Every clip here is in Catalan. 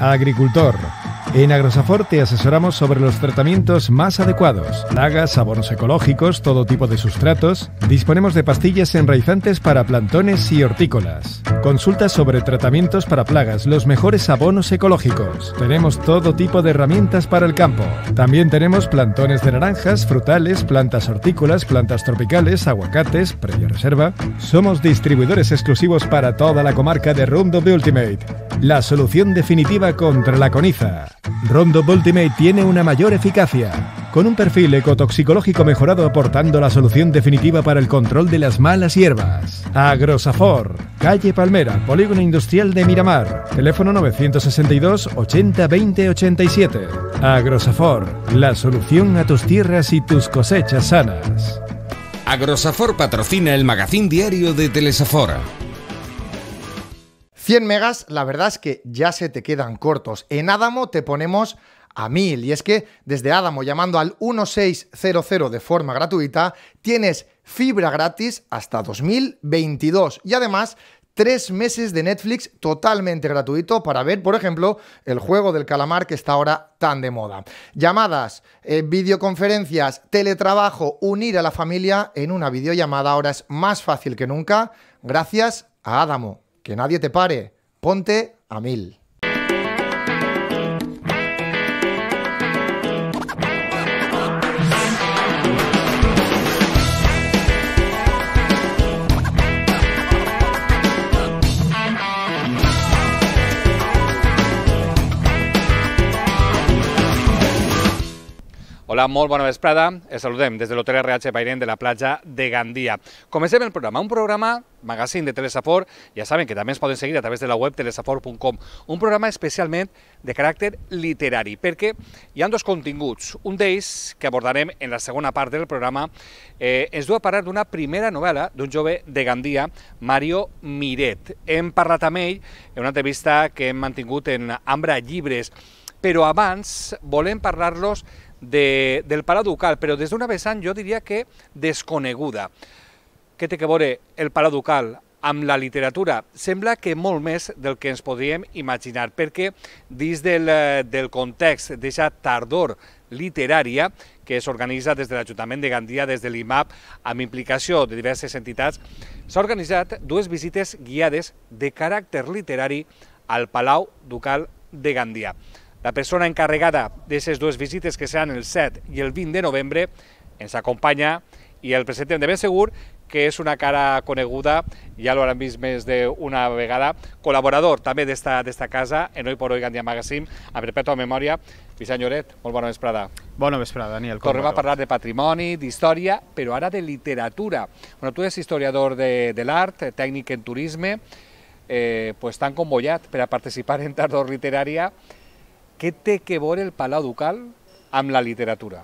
Agricultor. En Agrosafor te asesoramos sobre los tratamientos más adecuados, plagas, abonos ecológicos, todo tipo de sustratos. Disponemos de pastillas enraizantes para plantones y hortícolas. Consulta sobre tratamientos para plagas, los mejores abonos ecológicos. Tenemos todo tipo de herramientas para el campo. También tenemos plantones de naranjas, frutales, plantas hortícolas, plantas tropicales, aguacates, previa reserva. Somos distribuidores exclusivos para toda la comarca de Roundup Ultimate, la solución definitiva contra la coniza. Roundup Ultimate tiene una mayor eficacia, con un perfil ecotoxicológico mejorado aportando la solución definitiva para el control de las malas hierbas. Agrosafor, calle Palmera, Polígono Industrial de Miramar, teléfono 962 80 20 87. Agrosafor, la solución a tus tierras y tus cosechas sanas. Agrosafor patrocina el magazín diario de Telesafor. 100 megas, la verdad es que ya se te quedan cortos. En Adamo te ponemos a 1000. Y es que desde Adamo, llamando al 1600 de forma gratuita, tienes fibra gratis hasta 2022. Y además, 3 meses de Netflix totalmente gratuito para ver, por ejemplo, el juego del calamar que está ahora tan de moda. Llamadas, videoconferencias, teletrabajo, unir a la familia en una videollamada ahora es más fácil que nunca gracias a Adamo. Que nadie te pare. Ponte a 1000. Hola, molt bona vesprada. Els saludem des de l'Hotel RH Bairén de la platja de Gandia. Comencem el programa, un programa magazín de Telesafor. Ja saben que també ens poden seguir a través de la web telesafor.com. Un programa especialment de caràcter literari, perquè hi ha dos continguts. Un d'ells, que abordarem en la segona part del programa, ens du a parlar d'una primera novel·la d'un jove de Gandia, Mario Miret. Hem parlat amb ell en una entrevista que hem mantingut en Ambra Llibres, però abans volem parlar-los del Palau Ducal, però des d'una vessant jo diria que desconeguda. Què té que veure el Palau Ducal amb la literatura? Sembla que molt més del que ens podríem imaginar, perquè dins del context d'aquesta tardor literària que s'organitza des de l'Ajuntament de Gandia, des de l'IMAP, amb implicació de diverses entitats, s'ha organitzat dues visites guiades de caràcter literari al Palau Ducal de Gandia. La persona encarregada d'aquestes dues visites, que seran el 7 i el 20 de novembre, ens acompanya i el presentem de ben segur que és una cara coneguda, ja l'hauran vist més d'una vegada, col·laborador també d'esta casa, en Hoy por Hoy Gandia Magazine, a perpètua memòria. Vicent Lloret, molt bona vesprada. Bona vesprada, Daniel. Tornem a parlar de patrimoni, d'història, però ara de literatura. Bueno, tu ets historiador de l'art, tècnic en turisme, tan convoyat per a participar en tardor literària. Què té que veure el Palau Ducal amb la literatura?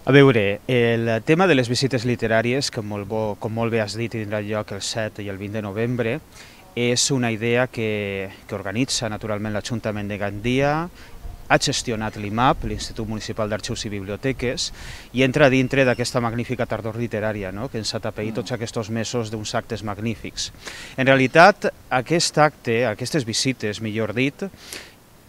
A veure, el tema de les visites literàries, com molt bé has dit, tindrà lloc el 7 i el 20 de novembre, és una idea que organitza naturalment l'Ajuntament de Gandia, ha gestionat l'IMAP, l'Institut Municipal d'Arxius i Biblioteques, i entra dintre d'aquesta magnífica tardor literària, que ens ha tapeït tots aquests mesos d'uns actes magnífics. En realitat, aquest acte, aquestes visites, millor dit,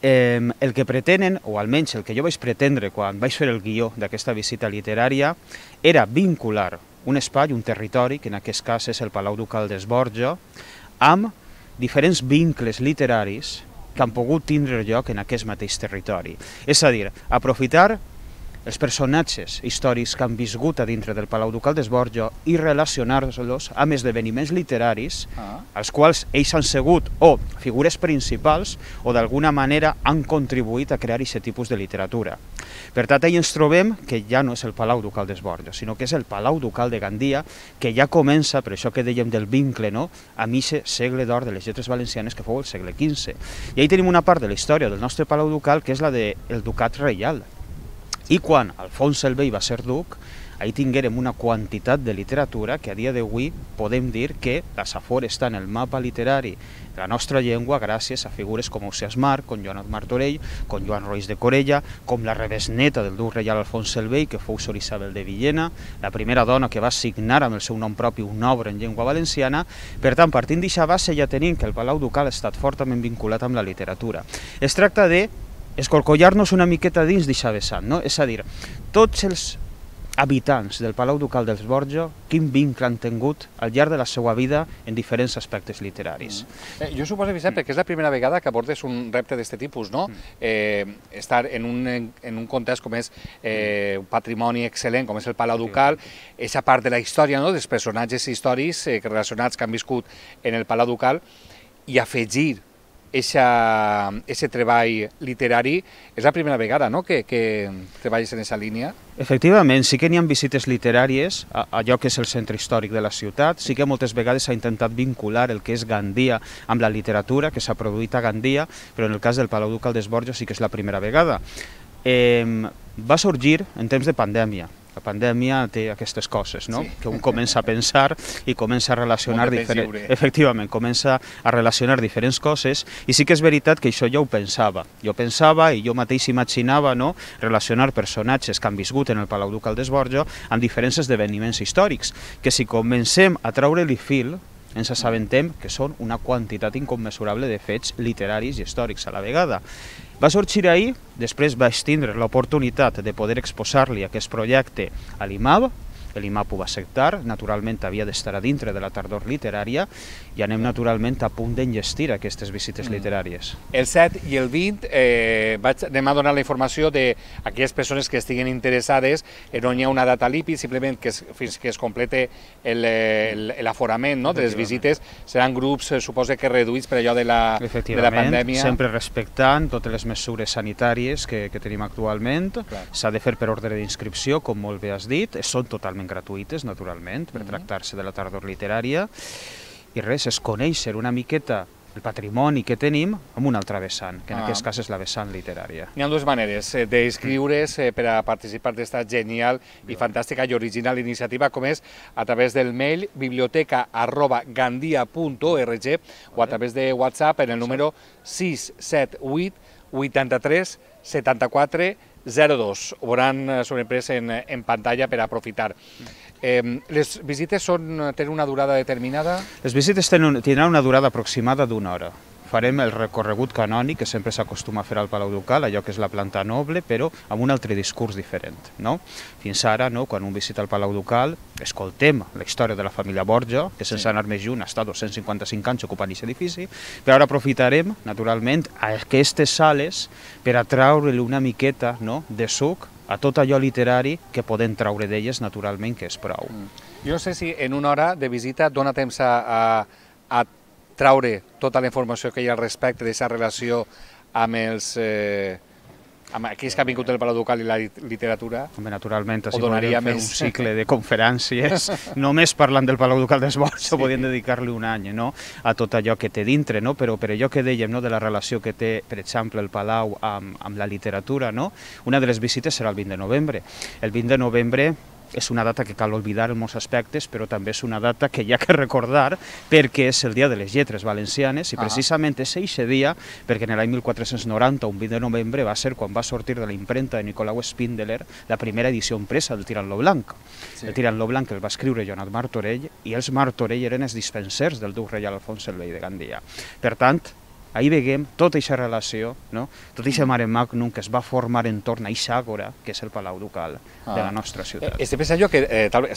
el que pretenen, o almenys el que jo vaig pretendre quan vaig fer el guió d'aquesta visita literària, era vincular un espai, un territori, que en aquest cas és el Palau Ducal d'Esborja, amb diferents vincles literaris que han pogut tindre lloc en aquest mateix territori. És a dir, aprofitar els personatges històrics que han viscut a dintre del Palau Ducal d'Esborja i relacionar-los amb esdeveniments literaris als quals ells han sigut o figures principals o d'alguna manera han contribuït a crear aquest tipus de literatura. Per tant, ahir ens trobem que ja no és el Palau Ducal d'Esborja, sinó que és el Palau Ducal de Gandia, que ja comença, per això que dèiem del vincle, amb aquest segle d'or de les lletres valencianes que fou el segle XV. I ahir tenim una part de la història del nostre Palau Ducal que és la del Ducat Reial. I quan Alfons el Vell va ser duc, ahí tinguérem una quantitat de literatura que a dia d'avui podem dir que la Safor està en el mapa literari de la nostra llengua gràcies a figures com Ausiàs March, com Joan Martorell, com Joan Roís de Corella, com la rebesneta del duc reial Alfons el Vell, que fou Sor Isabel de Villena, la primera dona que va signar amb el seu nom propi una obra en llengua valenciana. Per tant, partint d'aquesta base ja tenim que el Palau Ducal ha estat fortament vinculat amb la literatura. Es tracta de escorcollar-nos una miqueta dins d'aquesta vessant, no? És a dir, tots els habitants del Palau Ducal dels Borja, quin vincle han tingut al llarg de la seva vida en diferents aspectes literaris. Jo suposo, Vicent, perquè és la primera vegada que abordes un repte d'aquest tipus, no? Estar en un context com és un patrimoni excel·lent, com és el Palau Ducal, aquesta part de la història, no?, dels personatges històrics relacionats que han viscut en el Palau Ducal, i afegir aquest treball literari. És la primera vegada, no?, que treballes en aquesta línia. Efectivament, sí que n'hi ha visites literàries a allò que és el centre històric de la ciutat, sí que moltes vegades s'ha intentat vincular el que és Gandia amb la literatura que s'ha produït a Gandia, però en el cas del Palau Ducal dels Borja sí que és la primera vegada. Va sorgir en temps de pandèmia. La pandèmia té aquestes coses, no? Que un comença a pensar i comença a relacionar efectivament, comença a relacionar diferents coses, i sí que és veritat que això jo ho pensava. Jo pensava i jo mateix imaginava, no?, relacionar personatges que han viscut en el Palau Ducal dels Borja amb diferents esdeveniments històrics, que si comencem a treure-li fil, ens assabentem que són una quantitat incommensurable de fets literaris i històrics a la vegada. Va sorgir ahir, després vaig tindre l'oportunitat de poder exposar-li aquest projecte a l'IMAB, l'IMAB ho va acceptar, naturalment havia d'estar a dintre de la tardor literària, i anem naturalment a punt d'enllestir aquestes visites literàries. El 7 i el 20 anem a donar la informació d'aquelles persones que estiguin interessades, no hi ha una data límit, simplement fins que es complete l'aforament de les visites, seran grups, suposo que reduïts per allò de la pandèmia. Efectivament, sempre respectant totes les mesures sanitàries que tenim actualment, s'ha de fer per ordre d'inscripció, com molt bé has dit, són totalment gratuïtes, naturalment, per tractar-se de la tardor literària, i res, és conèixer una miqueta el patrimoni que tenim amb una altra vessant, que en aquest cas és la vessant literària. Hi ha dues maneres d'inscriure's per a participar d'esta genial i fantàstica i original iniciativa, com és a través del mail biblioteca@gandia.org o a través de WhatsApp en el número 678 83 74 02. Ho veuran sobreimprès en pantalla per aprofitar. Les visites tenen una durada determinada? Les visites tindran una durada aproximada d'una hora. Farem el recorregut canònic que sempre s'acostuma a fer al Palau Ducal, allò que és la planta noble, però amb un altre discurs diferent. Fins ara, quan un visita el Palau Ducal, escoltem la història de la família Borja, que sense anar més lluny està 255 anys ocupant aquest edifici, però ara aprofitarem, naturalment, aquestes sales per a treure-li una miqueta de suc a tot allò literari que podem treure d'elles, naturalment, que és prou. Jo no sé si en una hora de visita dona temps a traure tota la informació que hi ha al respecte d'aquesta relació amb aquells que han vingut del Palau Ducal i la literatura. Naturalment, si podríem fer un cicle de conferències, només parlant del Palau Ducal dels Borja, podríem dedicar-li un any a tot allò que té dintre, però per allò que dèiem de la relació que té, per exemple, el Palau amb la literatura, una de les visites serà el 20 de novembre. El 20 de novembre és una data que cal oblidar en molts aspectes, però també és una data que hi ha que recordar perquè és el dia de les lletres valencianes i precisament és aquest dia perquè en l'any 1490, un 20 de novembre, va ser quan va sortir de la impremta de Nicolau Spindeler la primera edició impresa del Tirant lo Blanc. El Tirant lo Blanc el va escriure Joan Martorell i els Martorell eren els dispensers del duc reial Alfons el Vell de Gandia. Per tant, ahir veiem tota aquesta relació, tot aquest mare magnum que es va formar entorn a aquesta àgora, que és el Palau Ducal de la nostra ciutat. Estic pensant jo que,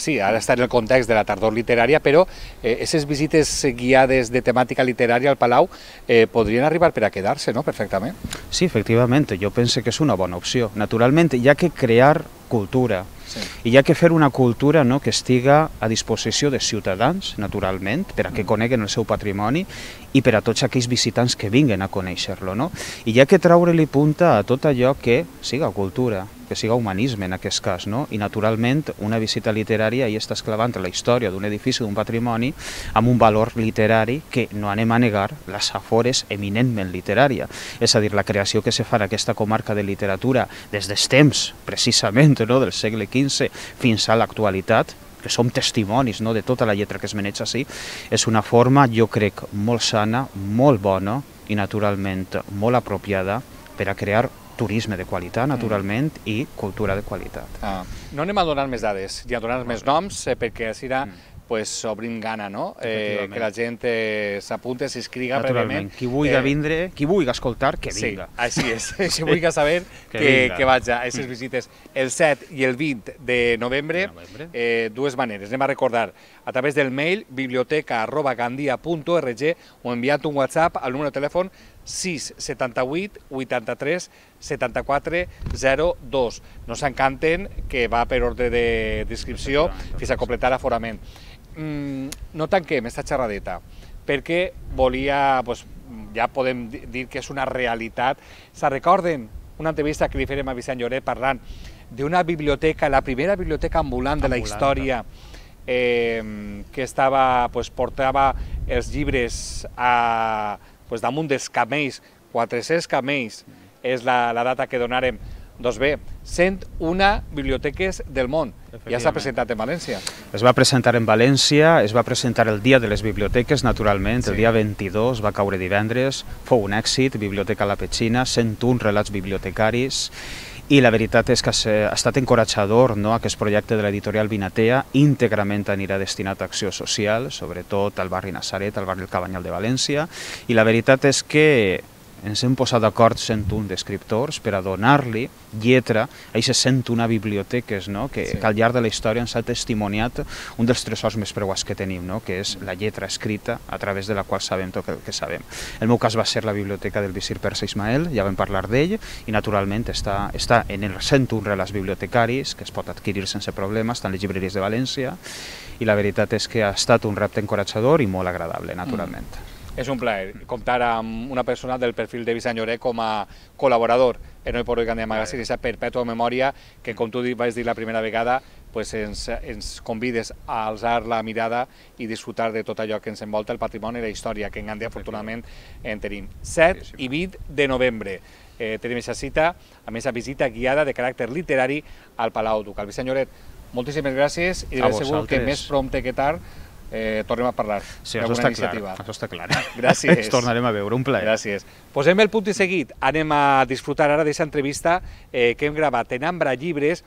sí, ara està en el context de la tardor literària, però aquestes visites guiades de temàtica literària al Palau podrien arribar per a quedar-se, no?, perfectament. Sí, efectivament, jo penso que és una bona opció. Naturalment, hi ha que crear cultura, i hi ha que fer una cultura que estiga a disposició de ciutadans, naturalment, per a que coneguen el seu patrimoni i per a tots aquells visitants que vinguen a conèixer-lo. I hi ha que treure-li punta a tot allò que siga cultura, que siga humanisme en aquest cas, no? I naturalment una visita literària hi està esclavant la història d'un edifici, d'un patrimoni, amb un valor literari que no anem a negar, la Safor és eminentment literària. És a dir, la creació que se fa en aquesta comarca de literatura des dels temps, precisament, no? Del segle XV fins a l'actualitat, que som testimonis, no? De tota la lletra que es maneja així, és una forma, jo crec, molt sana, molt bona i naturalment molt apropiada per a crear turisme de qualitat, naturalment, i cultura de qualitat. No anem a donar més dades i a donar més noms, perquè així pues, obrim gana, no? Que la gent s'apunte, s'inscriga prèviament. Qui vulgui vindre, qui vulgui escoltar, que vinga. Sí, així és. Qui vulgui saber, que vaig a aquestes visites el 7 i el 20 de novembre. Dues maneres. Anem a recordar a través del mail biblioteca@gandia.org o enviant un WhatsApp al número de telèfon 678 83 74 02. No s'encanten, que va per ordre d'inscripció fins a completar l'aforament. No tanquem esta xerradeta, perquè volia, ja podem dir que és una realitat. Se recorden una entrevista que li farem a Vicent Lloret parlant d'una biblioteca, la primera biblioteca ambulant de la història, que portava els llibres damunt dels camells, 400 camells és la data que donarem. Doncs bé, 101 biblioteques del món. Ja s'ha presentat en València. Es va presentar en València, es va presentar el dia de les biblioteques, naturalment, el dia 22, va caure divendres, fou un èxit, Biblioteca La Petxina, 101 relats bibliotecaris, i la veritat és que ha estat encoratjador, no? Aquest projecte de l'editorial Vinatea íntegrament anirà destinat a acció social, sobretot al barri Nazaret, al barri del Cabanyal de València, i la veritat és que ens hem posat d'acord 101 d'escriptors per a donar-li lletra a aquestes 101 biblioteques, no? Que al llarg de la història ens ha testimoniat un dels tresors més preuats que tenim, no? Que és la lletra escrita a través de la qual sabem tot el que sabem. El meu cas va ser la biblioteca del visir persa Ismael, ja vam parlar d'ell, i naturalment està en els 101 relats bibliotecaris, que es pot adquirir sense problemes, estan les llibreries de València, i la veritat és que ha estat un repte encoratjador i molt agradable, naturalment. És un plaer comptar amb una persona del perfil de Vicent Lloret com a col·laborador en Hoy por Hoy Gandia Magazine, aquesta perpètua memòria que, com tu vas dir la primera vegada, ens convides a alçar la mirada i disfrutar de tot allò que ens envolta, el patrimoni i la història, que en Gandia afortunadament en tenim. 7 i 20 de novembre tenim aquesta cita, a més a visita guiada de caràcter literari al Palau Ducal. Vicent Lloret, moltíssimes gràcies i de ben segur que més prompte que tard tornem a parlar. Sí, això està clar. Gràcies. Ens tornarem a veure, un plaer. Gràcies. Posem el punt i seguit. Anem a disfrutar ara d'aquesta entrevista que hem gravat en Ambra Llibres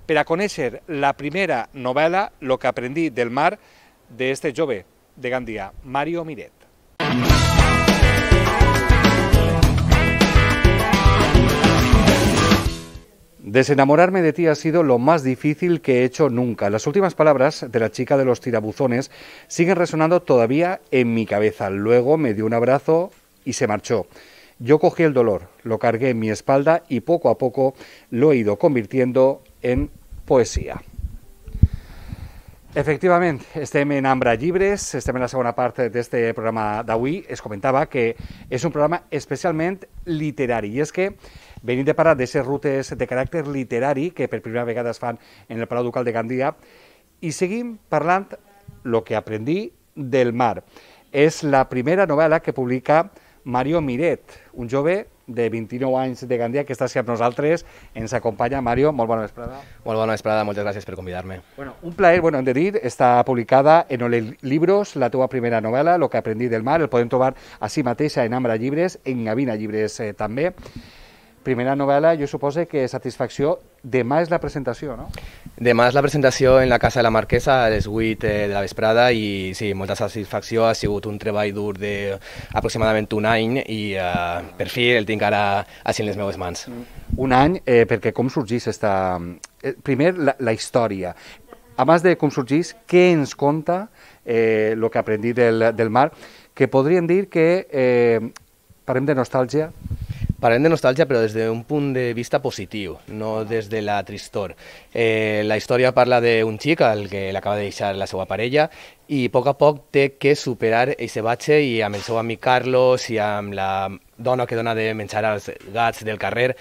per a conèixer la primera novel·la, Lo que aprendí del mar, d'este jove de Gandia, Mario Miret. Desenamorarme de ti ha sido lo más difícil que he hecho nunca. Las últimas palabras de la chica de los tirabuzones siguen resonando todavía en mi cabeza. Luego me dio un abrazo y se marchó. Yo cogí el dolor, lo cargué en mi espalda y poco a poco lo he ido convirtiendo en poesía. Efectivament, estem en Ambra Llibres, estem en la segona part d'aquest programa d'avui. Es comentava que és un programa especialment literari, i és que venim de parlar d'aquestes rutes de caràcter literari que per primera vegada es fan en el Palau Ducal de Gandia, i seguim parlant Lo que aprendí del mar. És la primera novel·la que publica Mario Miret, un jove de 29 anys de Gandia que està amb nosaltres. Ens acompanya. Mario, molt bona vesprada. Molt bona vesprada, moltes gràcies per convidar-me. Un plaer, hem de dir, està publicada en Ole Libros, la teva primera novel·la, Lo que aprendí del mar. El podem trobar així mateix en Ambra Llibres, en Gavina Llibres també. Primera novel·la, jo suposo que satisfacció. Demà és la presentació, no? Demà és la presentació en la Casa de la Marquesa a les 8 de la vesprada i sí, molta satisfacció. Ha sigut un treball dur d'aproximadament un any i per fi el tinc ara així en les meves mans. Un any, perquè com sorgís esta... Primer, la història. A més de com sorgís, què ens conta Lo que aprendí del mar, que podríem dir que parlem de nostàlgia? Parlem de nostàlgia, però des d'un punt de vista positiu, no des de la tristor. La història parla d'un xic al que l'acaba de deixar la seva parella i a poc té que superar aquest batxe, i amb el seu amic Carlos i amb la dona que dona de menjar als gats del carrer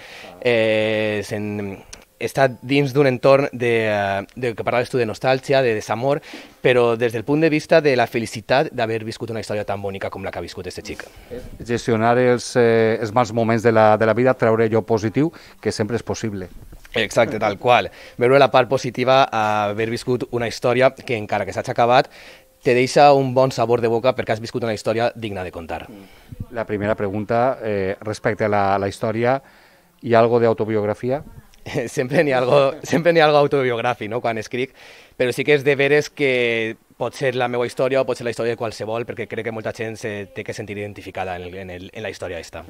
està dins d'un entorn que parlaves tu de nostàlgia, de desamor, però des del punt de vista de la felicitat d'haver viscut una història tan bonica com la que ha viscut aquest xic. Gestionar els mals moments de la vida, treure allò positiu, que sempre és possible. Exacte, tal qual. Veure la part positiva a haver viscut una història que, encara que s'ha acabat, te deixa un bon sabor de boca perquè has viscut una història digna de contar. La primera pregunta, respecte a la història, hi ha algo d'autobiografia? Sempre n'hi ha algo autobiogràfic, no?, quan escric, però sí que és de veres que pot ser la meva història o pot ser la història de qualsevol, perquè crec que molta gent se té que sentir identificada en la història aquesta.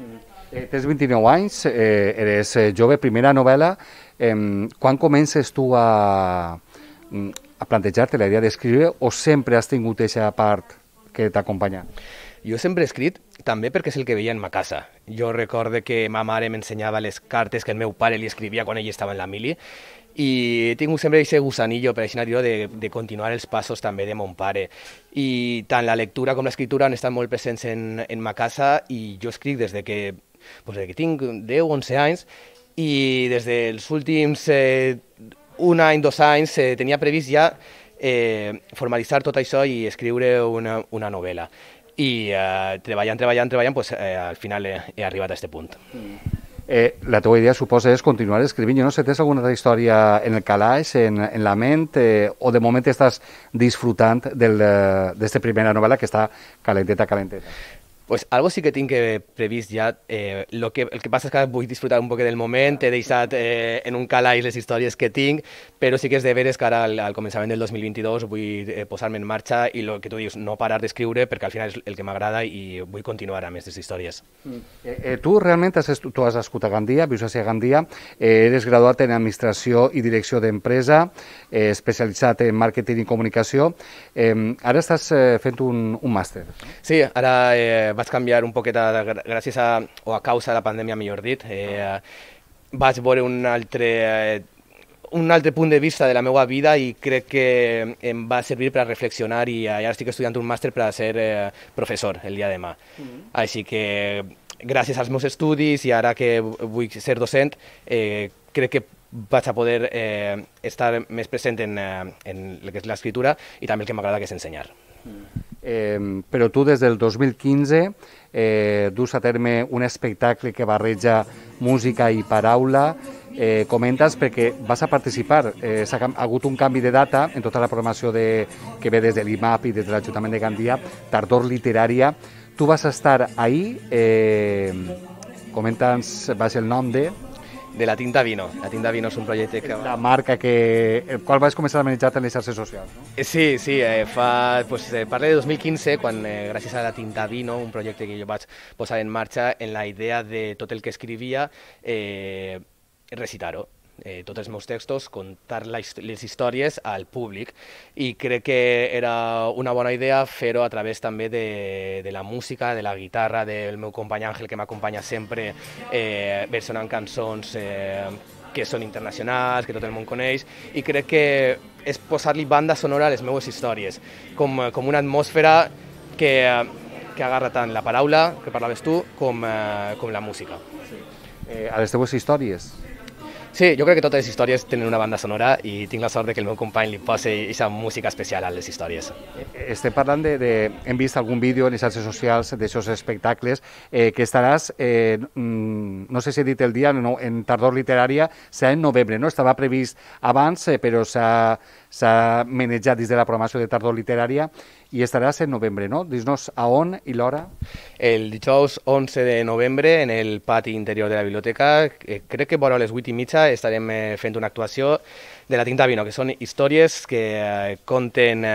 Tens 29 anys, eres jove, primera novel·la. Quan comences tu a plantejar-te la idea d'escriure o sempre has tingut aquesta part que t'acompanya? Jo sempre he escrit també perquè és el que veia en ma casa. Jo recordo que ma mare m'ensenyava les cartes que el meu pare li escrivia quan ell estava en la mili i he tingut sempre aquest gusanillo, per així dir-ho, de continuar els passos també de mon pare. I tant la lectura com l'escriptura han estat molt presents en ma casa i jo escric des que tinc 10 o 11 anys i des dels últims un any, 2 anys tenia previst ja formalitzar tot això i escriure una novel·la. I treballant, al final he arribat a aquest punt. La teva idea, suposa, és continuar escrivint. Jo no sé, tens alguna altra història en el calaix, en la ment, o de moment estàs disfrutant d'esta primera novel·la que està calenteta? Pues algo sí que tinc previst ja. El que passa és que vull disfrutar un poc del moment, he deixat en un calaix les històries que tinc, però sí que és de veres que ara al començament del 2022 vull posar-me en marxa i el que tu dius, no parar d'escriure, perquè al final és el que m'agrada i vull continuar amb aquestes històries. Tu realment tu has nascut a Gandia, vius a Gandia, eres graduat en Administració i Direcció d'Empresa, especialitzat en Màrqueting i Comunicació. Ara estàs fent un màster. Sí, ara vaig canviar un poquet gràcies a causa de la pandèmia, millor dit. Vaig veure un altre punt de vista de la meva vida i crec que em va servir per a reflexionar i ara estic estudiant un màster per a ser professor el dia de demà. Així que gràcies als meus estudis i ara que vull ser docent, crec que vaig a poder estar més present en el que és l'escriptura i també el que m'agrada, que és ensenyar. Però tu des del 2015 dus a terme un espectacle que barreja música i paraula. Comentes perquè vas a participar, ha hagut un canvi de data en tota la programació que ve des de l'IMAP i des de l'Ajuntament de Gandia, Tardor Literària. Tu vas estar ahí, comenta'ns, va ser el nom de La Tinta Vino. La Tinta Vino és un projecte que... La marca el qual vas començar a manejar en les xarxes socials, no? Sí, parla de 2015, quan gràcies a La Tinta Vino, un projecte que jo vaig posar en marxa, en la idea de tot el que escrivia, recitar-ho. Tots els meus textos, contar les històries al públic, i crec que era una bona idea fer-ho a través també de la música, de la guitarra del meu company Àngel, que m'acompanya sempre versionant cançons que són internacionals, que tot el món coneix, i crec que és posar-li banda sonora a les meves històries, com una atmosfera que agarra tant la paraula, que parlaves tu, com la música. A les teves històries? Sí, jo crec que totes les històries tenen una banda sonora i tinc la sort que el meu company li posi aquesta música especial a les històries. Estem parlant hem vist algun vídeo en les xarxes socials d'aquests espectacles, que estaràs, no sé si he dit el dia, en Tardor Literària, serà en novembre, no? Estava previst abans, però s'ha manejat dins de la programació de Tardor Literària i estaràs en novembre, no? Dis-nos a on i l'hora. El dijous 11 de novembre, en el pati interior de la biblioteca, crec que vora les 8:30 estarem fent una actuació de La Tinta Vino, que són històries que conten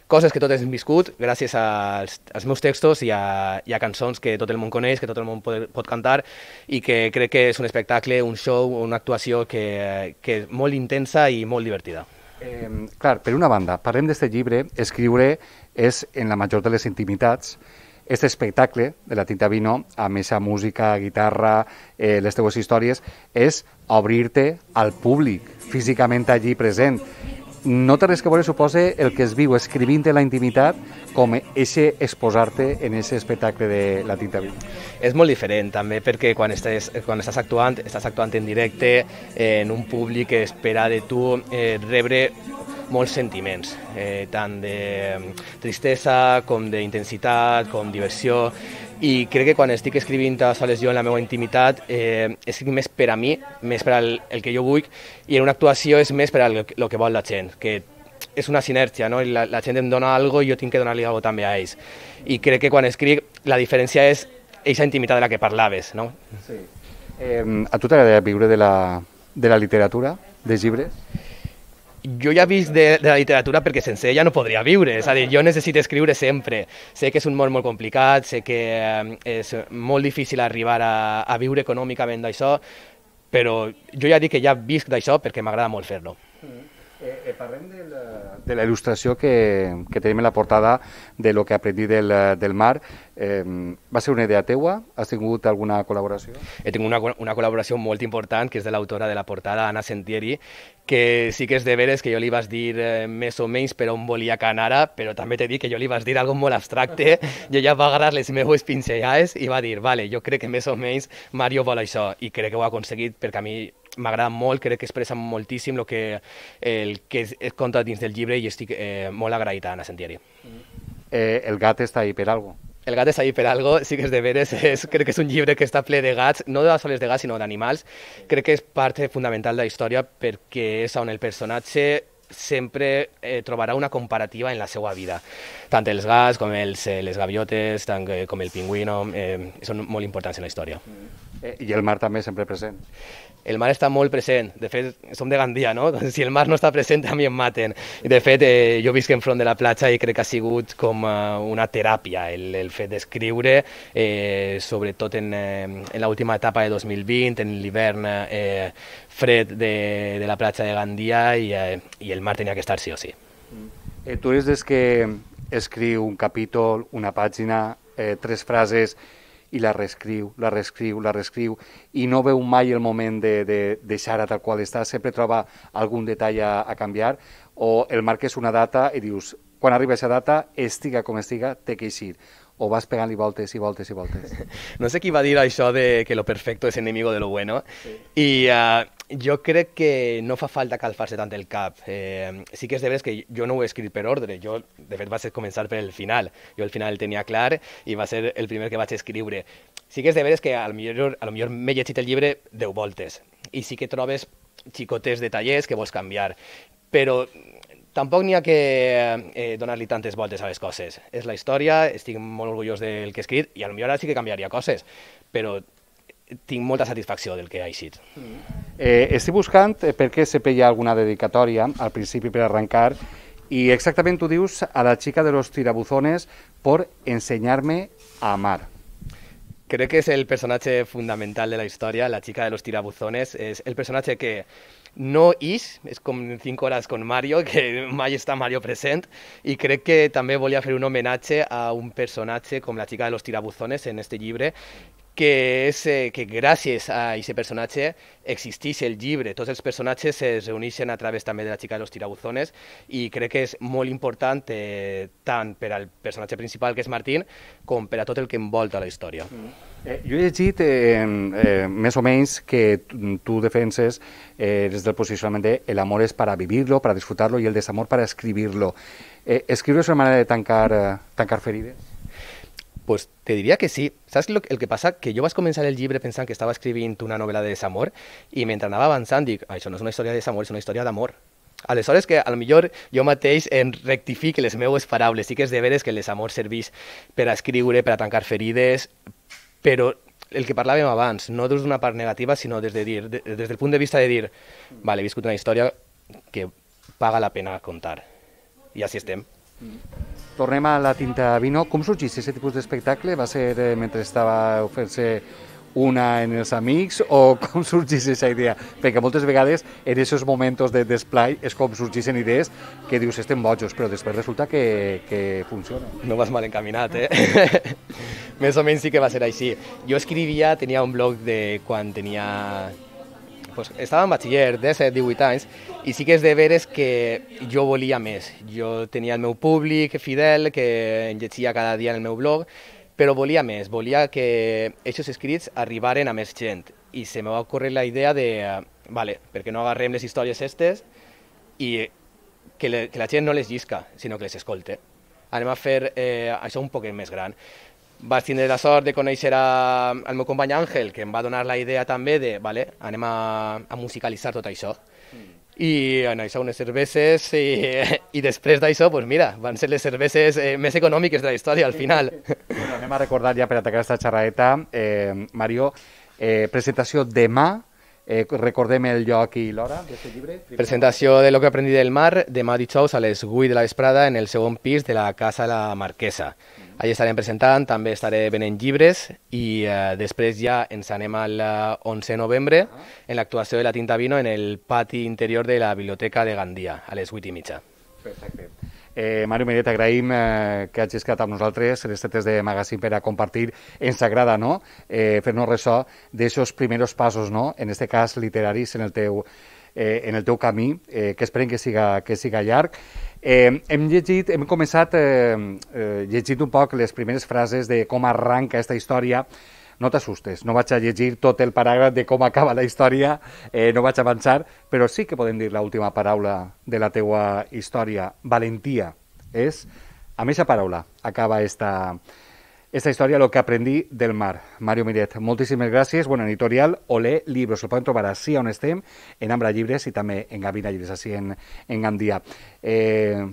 coses que totes hem viscut gràcies als meus textos i a cançons que tot el món coneix, que tot el món pot cantar, i que crec que és un espectacle, un show, una actuació que és molt intensa i molt divertida. Clar, per una banda, parlem d'aquest llibre, escriure és en la major de les intimitats. Aquest espectacle de La Tinta Vino, amb aquesta música, guitarra, les teves històries, és obrir-te al públic, físicament allí present. no té res que veure, suposa, el que es viu escrivint en la intimitat com eixe exposar-te en aquest espectacle de la tinta viva. És molt diferent també perquè quan estàs actuant en directe en un públic que espera de tu rebre molts sentiments, tant de tristesa com d'intensitat, com diversió, i crec que quan estic escrivint a soles jo en la meva intimitat escric més per a mi, més per al que jo vull, i en una actuació és més per al que vol la gent, que és una sinergia, no? La gent em dona alguna cosa i jo tinc que donar-li alguna cosa també a ells. I crec que quan escric la diferència és aquesta intimitat de la que parlaves, no? Sí. A tu t'agradaria viure de la literatura, dels llibres? Jo ja he vist de la literatura perquè sense ella no podria viure, és a dir, jo necessito escriure sempre. Sé que és un món molt complicat, sé que és molt difícil arribar a viure econòmicament d'això, però jo ja dic que ja visc d'això perquè m'agrada molt fer-lo. Parlem de la il·lustració que tenim en la portada de lo que aprendí del mar. Va ser una idea teua? Has tingut alguna col·laboració? He tingut una col·laboració molt important, que és de l'autora de la portada, Anna Sentieri, que sí que és de veres que jo li vas dir més o menys per on volia que anara, però també t'he dit que jo li vas dir algo molt abstracte, i ella va agarrar les meves pinzellades i va dir, vale, jo crec que més o menys Mario vol això, i crec que ho ha aconseguit perquè a mi m'agrada molt, crec que expressa moltíssim el que es conta dins del llibre i estic molt agraït a Anna Sentieri. El gat està ahí per algo. El gat està ahí per algo, sí que és de veres, crec que és un llibre que està ple de gats, no de soles de gats, sinó d'animals. Crec que és part fundamental de la història perquè és on el personatge sempre trobarà una comparativa en la seva vida. Tant els gats com les gaviotes, tant com el pingüino, són molt importants en la història. I el mar també sempre present. El mar està molt present, de fet som de Gandia, no? Si el mar no està present a mi em maten. De fet jo visc enfront de la platja i crec que ha sigut com una teràpia el fet d'escriure, sobretot en l'última etapa de 2020, en l'hivern fred de la platja de Gandia, i el mar tenia que estar sí o sí. Tu eres des que escriu un capítol, una pàgina, 3 frases, i la reescriu, i no veu mai el moment de deixar-la tal qual està, sempre troba algun detall a canviar, o el marques una data i dius, quan arriba aquesta data, estiga com estiga, té que eixir, o vas pegant-li voltes i voltes i voltes. No sé qui va dir això de que lo perfecto es enemigo de lo bueno, i jo crec que no fa falta calfar-se tant el cap. Sí que és de veres que jo no ho he escrit per ordre, jo de fet vaig començar per el final, jo el final el tenia clar i va ser el primer que vaig escriure. Sí que és de veres que a lo millor m'he llegit el llibre 10 voltes i sí que trobes xicotes detallers que vols canviar, però tampoc n'hi ha que donar-li tantes voltes a les coses. És la història, estic molt orgullós del que he escrit i potser ara sí que canviaria coses, però tinc molta satisfacció del que ha eixit. Estic buscant perquè sempre hi ha alguna dedicatòria al principi per arrencar i exactament tu dius a la chica de los tirabuzones por enseñarme a amar. Crec que és el personatge fundamental de la història, la chica de los tirabuzones, és el personatge que no és com 5 hores con Mario, que mai està Mario present, i crec que també volia fer un homenatge a un personatge com la chica de los tirabuzones en este llibre, que és que gràcies a aquest personatge existeix el llibre. Tots els personatges es reuneixen a través també de la chica de los tirabuzones i crec que és molt important tant per al personatge principal, que és Martín, com per a tot el que envolta la història. Jo he llegit més o menys que tu defenses des del posicionament de el amor és para vivirlo, para disfrutarlo y el desamor para escribirlo. ¿Escribir es una manera de tancar ferides? Pues te diria que sí. Saps el que passa? Que jo vaig començar el llibre pensant que estava escrivint una novel·la de desamor i mentre anava avançant dic, això no és una història de desamor, és una història d'amor. Aleshores que potser jo mateix em rectifique les meves paraules. Sí que és de veres que el desamor serveix per a escriure, per a tancar ferides, però el que parlàvem abans, no des d'una part negativa, sinó des del punt de vista de dir, vale, he viscut una història que paga la pena contar. I així estem. Tornem a la tinta vino. Com sorgís aquest tipus d'espectacle? Va ser mentre estava fent-se una en els amics o com sorgís aquesta idea? Perquè moltes vegades en aquests moments de d'esplai és com sorgeixen idees que dius estem bojos, però després resulta que funciona. No vas mal encaminat, Més o menys sí que va ser així. Jo escrivia, tenia un blog de quan tenia pues, estava en batxiller, 17-18 anys, i sí que és de veres que jo volia més. Jo tenia el meu públic fidel, que em llegia cada dia en el meu blog, però volia més, volia que aquests escrits arribaren a més gent. I se me va ocórrer la idea de, vale, per què no agarrem les històries estes i que la gent no les llisca, sinó que les escolte. Anem a fer això un poc més gran. Vaig tindre la sort de conèixer el meu company Àngel, que em va donar la idea també de, vale, anem a musicalitzar tot això. I en això unes cerveses i després d'això, pues mira, van ser les cerveses més econòmiques de la història al final. Bueno, anem a recordar ja per atacar aquesta xerradeta, Mario, presentació demà, recordem el lloc i l'hora d'aquest llibre. Presentació de Lo que aprendí del mar, demà dijous a les 8 de la vesprada en el segon pis de la Casa La Marquesa. Allà estarem presentant, també estaré venent llibres i després ja ens anem al 11 de novembre en l'actuació de la Tinta Vino en el pati interior de la Biblioteca de Gandia, a les 8:30. Perfecte. Mario Miret, agraïm que hagis quedat amb nosaltres les tetes de Magazine per a compartir. Ens agrada, no?, fer-nos ressò d'aixos primers passos, no?, en aquest cas literaris en el teu camí, que esperem que siga llarg. Hem començat llegint un poc les primeres frases de com arranca aquesta història. No t'assustes, no vaig a llegir tot el paràgraf de com acaba la història, no vaig avançar, però sí que podem dir l'última paraula de la teua història. Valentia. És, amb aquesta paraula acaba esta història, Lo que aprendí del mar. Mario Miret, moltíssimes gràcies. Bueno, en Editorial Olé Libros, el poden trobar així on estem, en Ambra Llibres i també en Gavina Llibres, així en Gandia.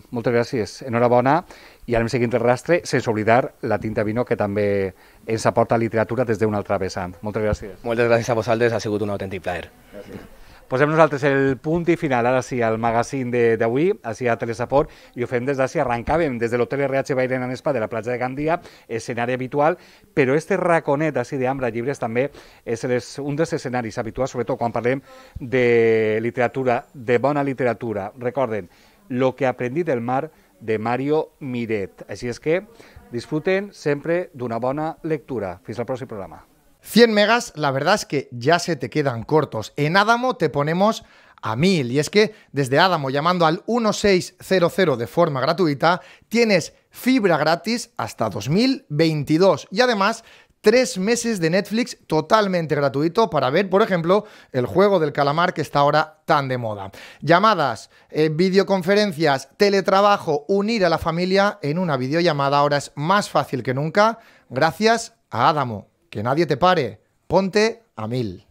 Moltes gràcies, enhorabona, i anem seguint el rastre, sense oblidar la Tinta Vino, que també ens aporta literatura des d'una altra vessant. Moltes gràcies. Moltes gràcies a vosaltres, ha sigut un autèntic plaer. Gràcies. Posem nosaltres el punt i final, ara sí, al magazine d'avui, així a Telesaport, i ho fem des d'ací. Arrencàvem des de l'Hotel RH Bairén en Espa de la platja de Gandia, escenari habitual, però este raconet així d'Ambra Llibres també és un dels escenaris habituals, sobretot quan parlem de literatura, de bona literatura. Recorden, Lo que aprendí del mar, de Mario Miret. Així és que disfruten sempre d'una bona lectura. Fins al pròxim programa. 100 megas, la verdad es que ya se te quedan cortos. En Adamo te ponemos a 1000. Y es que desde Adamo, llamando al 1600 de forma gratuita, tienes fibra gratis hasta 2022. Y además, 3 meses de Netflix totalmente gratuito para ver, por ejemplo, el juego del calamar que está ahora tan de moda. Llamadas, videoconferencias, teletrabajo, unir a la familia en una videollamada ahora es más fácil que nunca gracias a Adamo. Que nadie te pare. Ponte a 1000.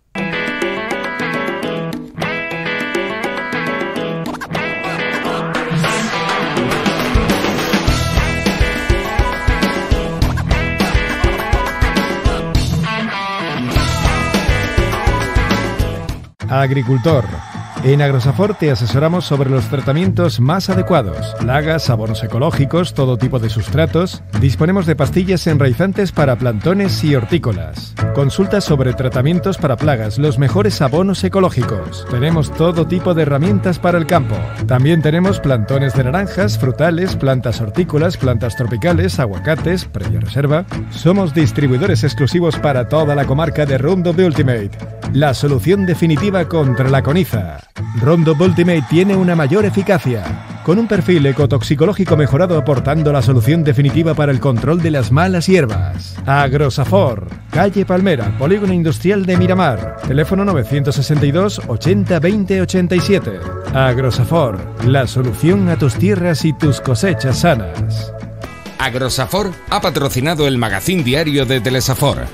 Agricultor. En Agrosafor te asesoramos sobre los tratamientos más adecuados. Plagas, abonos ecológicos, todo tipo de sustratos. Disponemos de pastillas enraizantes para plantones y hortícolas. Consulta sobre tratamientos para plagas, los mejores abonos ecológicos. Tenemos todo tipo de herramientas para el campo. También tenemos plantones de naranjas, frutales, plantas hortícolas, plantas tropicales, aguacates, previa reserva. Somos distribuidores exclusivos para toda la comarca de Roundup Ultimate, la solución definitiva contra la coniza. Roundup Ultimate tiene una mayor eficacia, con un perfil ecotoxicológico mejorado aportando la solución definitiva para el control de las malas hierbas. Agrosafor, calle Palmera, Polígono Industrial de Miramar, teléfono 962 80 20 87. Agrosafor, la solución a tus tierras y tus cosechas sanas. Agrosafor ha patrocinado el magazín diario de Telesafor.